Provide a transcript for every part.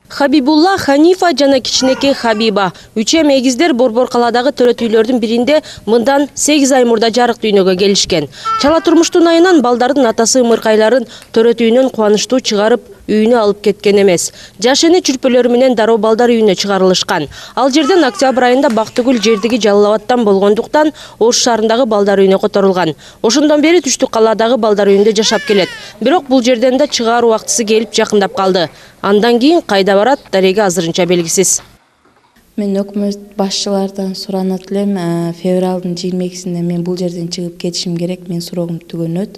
Хабибулла, Ханифа жана кичинекей Хабиба. Үчем эгиздер Борбор калаадагы төрөт үйлөрдүн биринде мындан 8 ай мурда жарык дүйнөгө келишкен. Чала турмуштун айынан балдардын атасы ымыркайларын төрөт үйүнөн кубанычтуу чыгарып, үйүнө алып кеткен эмес. Жаш эне чүрпөлөрү менен дароо балдар үйүнө чыгарылышкан. Ал жерден октябрь айында Бактыгүл жердиги Жалал Абадтан болгондуктан Ош шаарындагы балдар үйүнө которулган. Ошондон бери Түштүк калаадагы балдар үйүндө жашап келет. Бирок бул жерден да чыгаруу убактысы келип жакындап калды. Андан кийин кайда барат, дареги азырынча белгисиз. Мен өкмөт башчылардан суранат элем, февралдын 22-синде мен бул жерден чыгып кетишим керек, мен сурогум түгөнөт.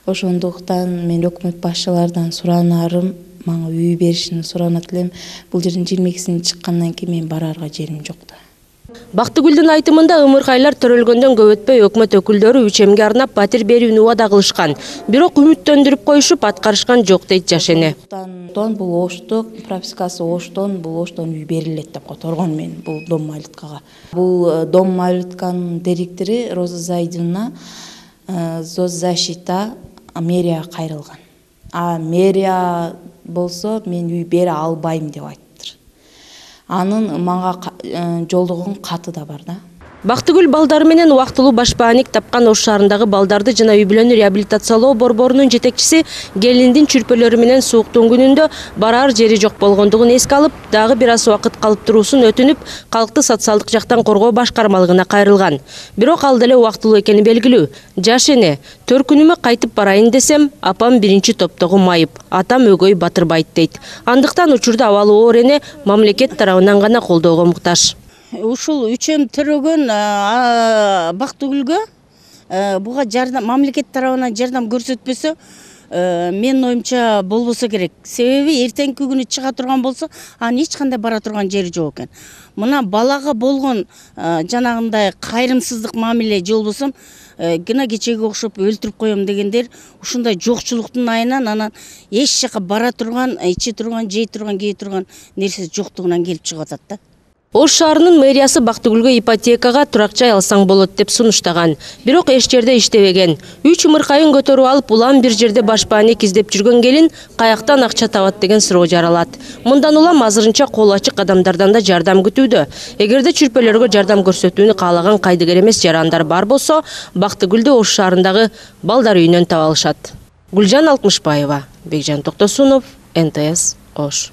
Ошондуктан мен өкмөт башчылардан суранарым, мага үй беришини суранат элем. Бул жерден 22-синде чыккандан кийин мен барарга жерим жок да. Бактыгүлдүн айтымында ымыркайлар төрөлгөндөн көп өтпөй өкмөт өкүлдөрү Үчемге арнап батир берүүнү убада кылышкан. Бирок үмүттөндүрүп коюшуп аткарышкан жок дейт жаш эне. Бул Оштун пропискасы Оштон, бул Оштон үй берилет деп которгон мен бул Дом Малюткага. Бул Дом Малютканын директору Роза Зайдина соцзащита мэрияга кайрылган. А мэрия болсо мен үй бере албайм деп айтты. Анын мага жолдогон каты да бар да. Бактыгүл балдары менен убактылуу башпааник тапкан Ош шаарындагы балдарды жана үй бүлөнү реабилитациялоо борборунун жетекчиси келиндин чүрпөлөрү менен сууктун күнүндө барар жери жок болгондугун эске алып, дагы бир аз убакыт калып туруусун өтүнүп, калкты социалдык жактан коргоо башкармалыгына кайрылган. Бирок ал деле убактылуу экени белгилүү. Жаш эне, төркүнүмө кайтып барайын десем, апам биринчи топтогу майып, атам өгөй батырбайт дейт. Андыктан учурда абалы оор эне мамлекет тарабынан гана колдоого муктаж. Ушул Үчем төрөгөн Бактыгүлгө буга жардам мамлекет тарабынан жардам көрсөтпөсө, менин оюмча болбосо керек. Себеби эртеңки күнү чыга турган болсо, анын эч кандай бара турган жери жок экен. Мына балага болгон жанагындай кайрымсыздык мамиле же болбосо гына кечеге окшоп өлтүрүп коем дегендер ушундай жокчулуктун айынан анан эч жака бара турган, ичи турган, жей турган, кээ турган нерсе жоктугунан келип чыгып атат да. Ош шаарынын мэриясы Бактыгүлгө ипотекага турак жай алсаң болот деп сунуштаган. Бирок эч жерде иштебеген. 3 ымыркайын көтөрүп алып, улам бир жерде башпааник издеп жүргөн келин каяктан акча табат деген суроо жаралат. Мындан улам азырынча кол ачык адамдардан да жардам күтүүдө. Эгерде чүрпөлөргө жардам көрсөтүүнү каалаган кайдыгер эмес жарандар бар болсо, Бактыгүлдү Ош шаарындагы балдар үйүнөн таба алышат. Гүлжан Алтмышбаева, Бекжан Токтосунов, НТС, Ош.